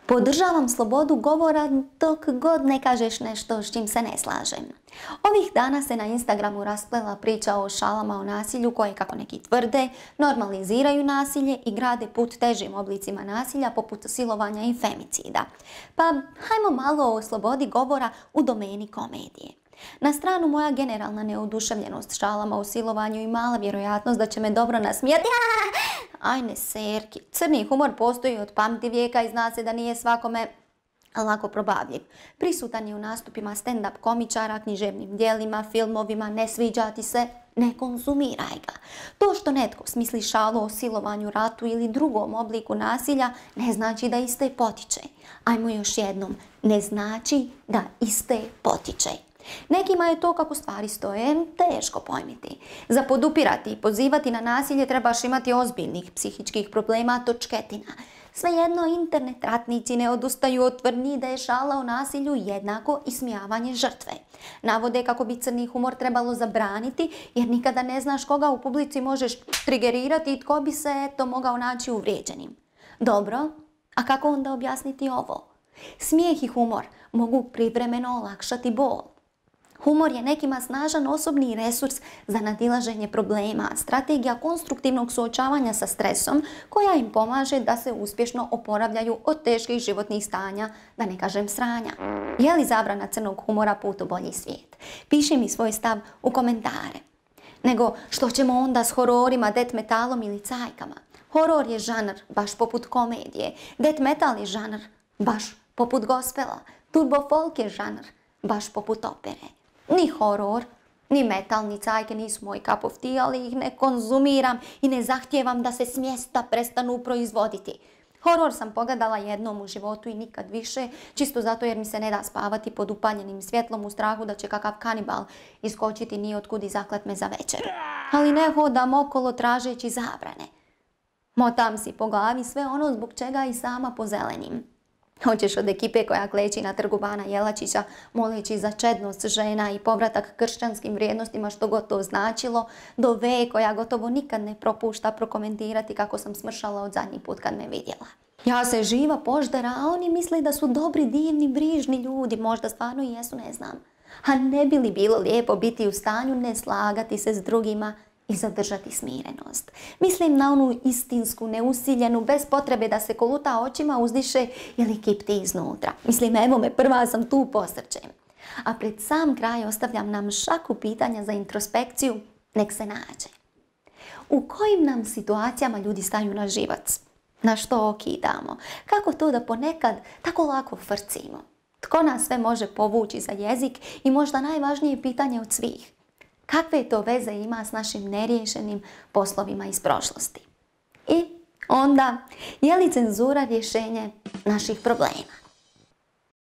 Podržavam slobodu govora dok god ne kažeš nešto s čim se ne slažem. Ovih dana se na Instagramu rasplela priča o šalama o nasilju koje, kako neki tvrde, normaliziraju nasilje i grade put težim oblicima nasilja poput silovanja i femicida. Pa hajmo malo o slobodi govora u domeni komedije. Na stranu moja generalna neoduševljenost šalama o silovanju i mala vjerojatnost da će me dobro nasmijati. Ajne serki, crni humor postoji od pamtivijeka i zna se da nije svakome lako probavljiv. Prisutan je u nastupima stand-up komičara, književnim djelima, filmovima, ne sviđa ti se, ne konzumiraj ga. To što netko smisli šalu o silovanju, ratu ili drugom obliku nasilja ne znači da iste potiče. Ajmo još jednom, ne znači da iste potiče. Nekima je to kako stvari stoje teško pojmiti. Za podupirati i pozivati na nasilje trebaš imati ozbiljnih psihičkih problema, točketina. Svejedno, internet ratnici ne odustaju od tvrdnji da je šala o nasilju jednako ismijavanje žrtve. Navode kako bi crni humor trebalo zabraniti jer nikada ne znaš koga u publici možeš trigerirati i tko bi se mogao naći uvrijeđenim. Dobro, a kako onda objasniti ovo? Smijeh i humor mogu privremeno olakšati bol. Humor je nekima snažan osobni resurs za nadilaženje problema, strategija konstruktivnog suočavanja sa stresom koja im pomaže da se uspješno oporavljaju od teških životnih stanja, da ne kažem sranja. Je li zabrana crnog humora put u bolji svijet? Piši mi svoj stav u komentare. Nego što ćemo onda s hororima, death metalom ili cajkama? Horor je žanr, baš poput komedije. Death metal je žanr, baš poput gospela. Turbo folk je žanr, baš poput opere. Ni horor, ni metal, ni cajke nisu moj cup of tea, ali ih ne konzumiram i ne zahtijevam da se s mjesta prestanu proizvoditi. Horor sam pogledala jednom u životu i nikad više, čisto zato jer mi se ne da spavati pod upaljenim svjetlom u strahu da će kakav kanibal iskočiti nijotkud i zaklat me za večer. Ali ne hodam okolo tražeći zabrane. Motam si po glavi sve ono zbog čega i sama pozelenim. Hoćeš od ekipe koja kleči na trgu Bana Jelačića moleći za čednost žena i povratak kršćanskim vrijednostima što god to značilo, do V koja gotovo nikad ne propušta prokomentirati kako sam smršala od zadnji put kad me vidjela. Ja se živa poždera, a oni misle da su dobri, divni, brižni ljudi, možda stvarno i jesu, ne znam. A ne bi li bilo lijepo biti u stanju ne slagati se s drugima i zadržati smirenost? Mislim na onu istinsku, neusiljenu, bez potrebe da se koluta očima uzdiše ili kipti iznutra. Mislim, evo me, prva sam tu, posrćem. A pred sam kraj ostavljam nam šaku pitanja za introspekciju, nek se nađe. U kojim nam situacijama ljudi staju na živac? Na što okidamo? Kako to da ponekad tako lako frcimo? Tko nas sve može povući za jezik i možda najvažnije pitanje od svih? Kakve to veze ima s našim neriješenim poslovima iz prošlosti? I onda, je li cenzura rješenje naših problema?